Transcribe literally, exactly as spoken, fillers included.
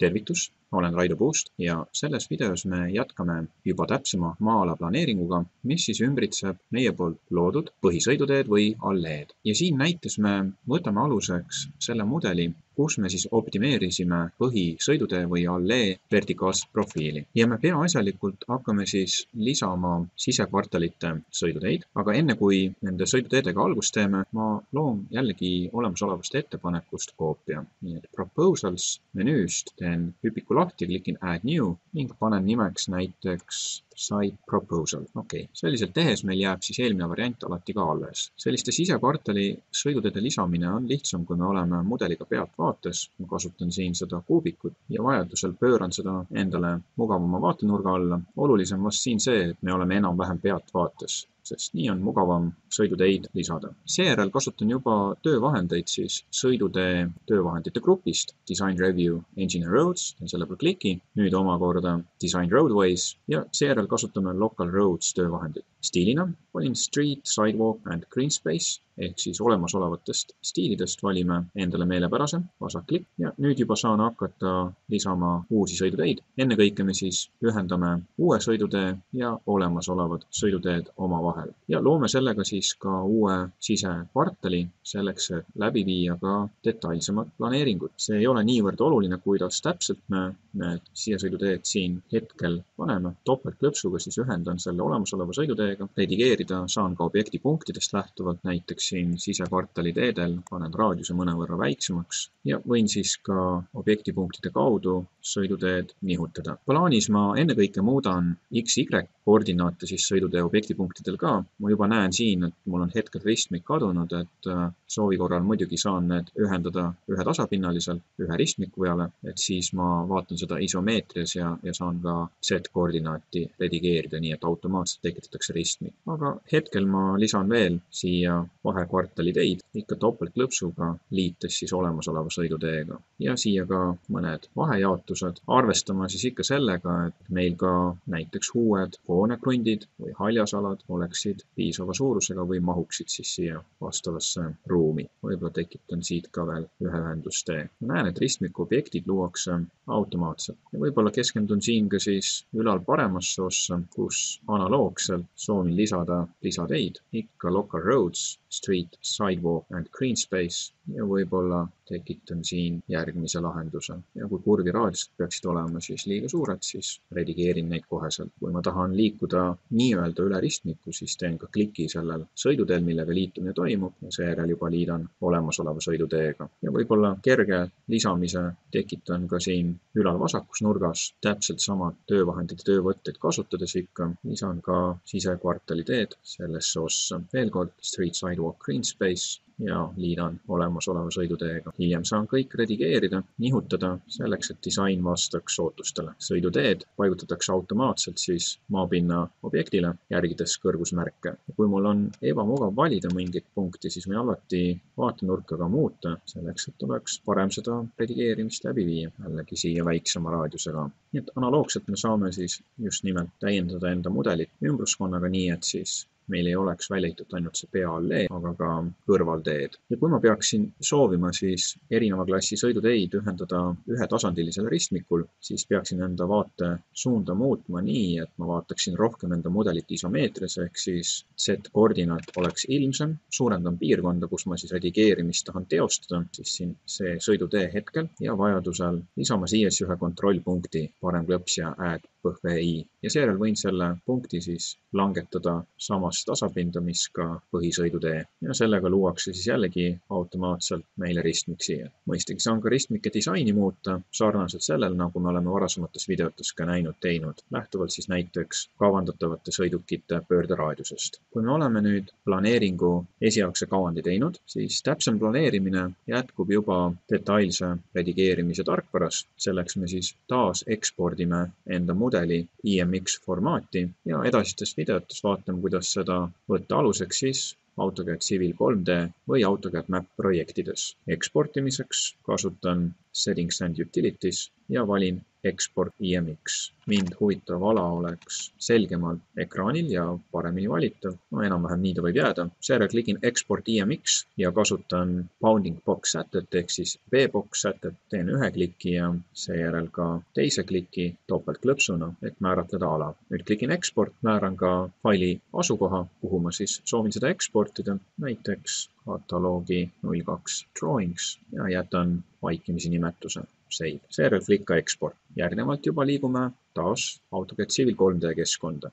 Tervitus, olen Raido Puust ja selles videos me jätkame juba täpsema maa-ala planeeringuga, mis siis ümbritseb meie poolt loodud põhisõiduteed või alleed. Ja siin näites me võtame aluseks selle mudeli, kus me siis optimeerisime põhisõidutee või allee vertikaalset profiili. Ja me peaasjalikult hakkame siis lisama sisekvartalite sõiduteid, aga enne kui nende sõiduteedega algust teeme, ma loon jällegi olemasolevast ettepanekust koopia. Nii et Proposals menüüst teen hüpiku lahti, klikin Add New ning panen nimeks näiteks Site Proposal. Okei, selliselt tehes meil jääb siis eelmine variant alati ka alles. Selliste sisekvartali sõiduteede lisamine on lihtsam, kui me oleme mudeliga pealt vaates. Ma kasutan siin seda kuubikut ja vajadusel pööran seda endale mugavama vaatenurga alla. Olulisem vast siin see, et me oleme enam-vähem pealt vaates, sest nii on mugavam sõiduteid lisada. Seejärel kasutan juba töövahendeid siis sõidutee töövahendite grupist Design Review Engine and Roads, selle peal kliki, nüüd omakorda Design Roadways ja seejärel kasutame Local Roads töövahendit. Stiilina valin Street, Sidewalk and Green Space ehk siis olemasolevatest stiilidest valime endale meelepärase, vasak klikk ja nüüd juba saan hakata lisama uusi sõiduteid. Ennekõike me siis ühendame uue sõidutee ja olemasolevad sõiduteed omavahel. Ja loome sellega siis ka uue sisekvartali selleks, et läbi viia ka detailsemad planeeringud. See ei ole niivõrd oluline, kuidas täpselt me need sisesõiduteed siin hetkel paneme. Topeltklõpsuga siis ühendan selle olemasoleva sõiduteega. Redigeerida saan ka objekti punktidest lähtuvalt, näiteks siin sisekvartali teedel panen raadiuse mõnevõrra väiksemaks ja võin siis ka objektipunktide kaudu sõiduteed nihutada. Plaanis ma ennekõike muudan X Y koordinaate siis sõidutee objektipunktidel ka. Ma juba näen siin, et mul on hetkel ristmik kadunud, et soovi korral muidugi saan need ühendada ühe tasapinnaliselt, ühe ristmiku peale, et siis ma vaatan seda isomeetrias ja, ja saan ka Z-koordinaati redigeerida, nii et automaatselt tekitatakse ristmik. Aga hetkel ma lisan veel siia vahekvartali teid, ikka topeltklõpsuga liites siis olemasoleva sõiduteega. Ja siia ka mõned vahejaotused. Arvestama siis ikka sellega, et meil ka näiteks uued hoonekrundid või haljasalad oleksid piisava suurusega või mahuksid siis siia vastavasse ruumi. Võib-olla tekitan siit ka veel ühe ühendustee. Ma näen, et ristmiku objektid luuakse automaatselt. Ja võib-olla keskendun siin ka siis ülal paremasse ossa, kus analoogselt soovin lisada lisateid, ikka Local Roads, Street, Sidewalk and Green Space ja võib-olla tekitan siin järgmise lahenduse. Ja kui kurvi raadiused peaksid olema siis liiga suured, siis redigeerin neid koheselt. Kui ma tahan liikuda nii-öelda üle ristmiku, siis teen ka kliki sellel sõiduteel, millega liitumine toimub ja seejärel juba liidan olemasoleva sõiduteega. Ja võib-olla kerge lisamise tekitan ka siin ülal vasakus nurgas täpselt samad töövahendid ja töövõtteid kasutades ikka. Lisan ka sisekvartali teed sellesse ossa. Veel kord Street, Sidewalk, Green Space ja liidan olemasoleva sõiduteega. Hiljem saan kõik redigeerida, nihutada selleks, et disain vastaks ootustele. Sõiduteed paigutatakse automaatselt siis maapinna objektile, järgides kõrgusmärke. Kui mul on ebamugav valida mingit punkti, siis võin alati vaatenurka ka muuta, selleks, et oleks parem seda redigeerimist läbi viia, jällegi siia väiksema raadiusega. Nii et analoogselt me saame siis just nimelt täiendada enda mudelit ümbruskonnaga nii, et siis meil ei oleks välja ehitatud ainult see peaallee, aga ka kõrvalteed. Ja kui ma peaksin soovima siis erineva klassi sõiduteid ühendada ühe tasandilisel ristmikul, siis peaksin enda vaate suunda muutma nii, et ma vaataksin rohkem enda mudelit isomeetrias, ehk siis Z-koordinaat oleks ilmsem, suurendan piirkonda, kus ma siis redigeerimist tahan teostada, siis siin see sõidutee hetkel ja vajadusel lisama siia ühe kontrollpunkti parem klõps ja add põhvi ja seejärel võin selle punkti siis langetada samas tasapinda, mis ka põhisõidutee ja sellega luuakse siis jällegi automaatselt meile ristmik siia. Mõistagi saan ka ristmike disaini muuta sarnaselt sellel, nagu me oleme varasemates videotes ka näinud teinud, lähtuvalt siis näiteks kavandatavate sõidukite pöörderaadiusest. Kui me oleme nüüd planeeringu esialgse kavandi teinud, siis täpsem planeerimine jätkub juba detailse redigeerimise tarkvarast. Selleks me siis taas ekspordime enda mudeli I M X formaati ja edasistes videotes vaatame, kuidas seda võtta aluseks siis AutoCAD Civil kolm D või AutoCAD Map projektides. Eksportimiseks kasutan Settings and Utilities ja valin Export I M X. Mind huvitav ala oleks selgemalt ekraanil ja paremini valitav. No enam-vähem nii ta võib jääda. Seejärel klikin Export I M X ja kasutan Bounding Box sätet ehk siis B-box sätet. Teen ühe kliki ja seejärel ka teise kliki topeltklõpsuna, et määratleda ala. Nüüd klikin Export, määran ka faili asukoha, kuhu ma siis soovin seda eksportida, näiteks kataloogi null kaks drawings ja jätan vaikimisi nimetuse save. Seejärel klikka Export. Järgnevalt juba liigume taas AutoCAD Civil kolm D keskkonda.